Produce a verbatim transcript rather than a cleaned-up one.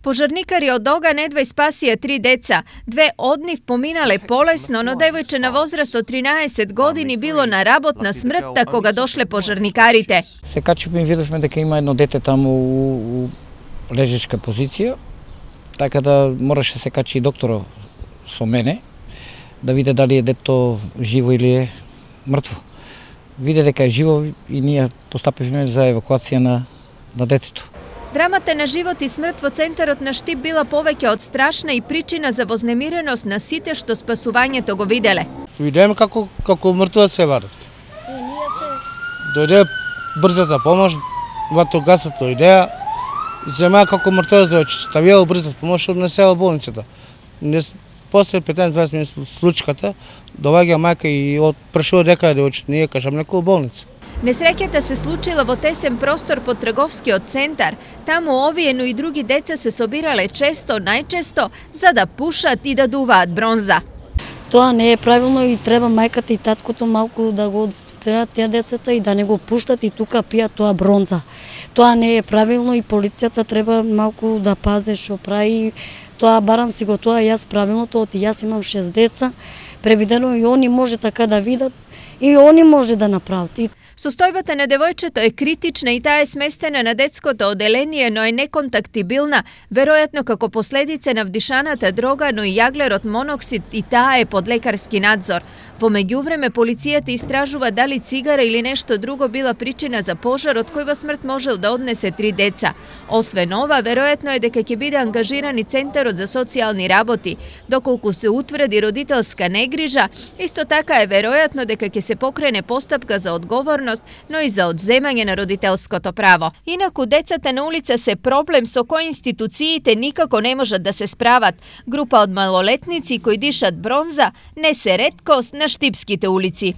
Пожарникари од Ога недвај спасија три деца. Две од нив поминале полесно, но девојче на возраст од тринаесет години било на работна смртта кога дошле пожарникарите. Се качивме и видовме дека има едно дете таму у, у лежечка позиција, така да мораше се качи и докторот со мене, да види дали е дето живо или е мртво. Види дека е живо и ние постапивме за евакуација на, на детето. Драмата на живот и смрт во центарот на Штип била повеќе од страшна и причина за вознемиреност на сите што спасувањето го виделе. Видеме како како мртва се вадат. Дојде брзата помош, ватрогасот дојдеа, зема како мртва да ставија брзата помош од несела болницата. Не после петнаесет-дваесет минути случката доаѓа мајка и од прашува дека девојчето не е кажам некоја болница. Несреќата се случила во тесен простор под трговскиот центар. Таму овие, но и други деца се собирале често, најчесто, за да пушат и да дуваат бронза. Тоа не е правилно и треба мајката и таткото малку да го дисциплинираат тие децата и да не го пуштат и тука пијат тоа бронза. Тоа не е правилно и полицијата треба малку да пазе што прави. Тоа барам си го тоа јас правилното, оти јас имам шест деца, превидено и они може така да видат и они може да направат. Состојбата на девојчето е критична и таа е сместена на детското оделение, но е неконтактибилна, веројатно како последица на вдишаната дрога, но и јаглерот моноксид и таа е под лекарски надзор. Во меѓувреме полицијата истражува дали цигара или нешто друго била причина за пожарот кој во смрт можел да однесе три деца. Освен ова, веројатно е дека ќе биде ангажиран и Центарот за социјални работи. Доколку се утврди родителска негрижа, исто така е веројатно дека ќе се покрене постапка за одговорност, но и за одземање на родителското право. Инаку децата на улица се проблем со кој институциите никако не можат да се справат. Група од малолетници кои дишат бронза не се реткост на штипските улици.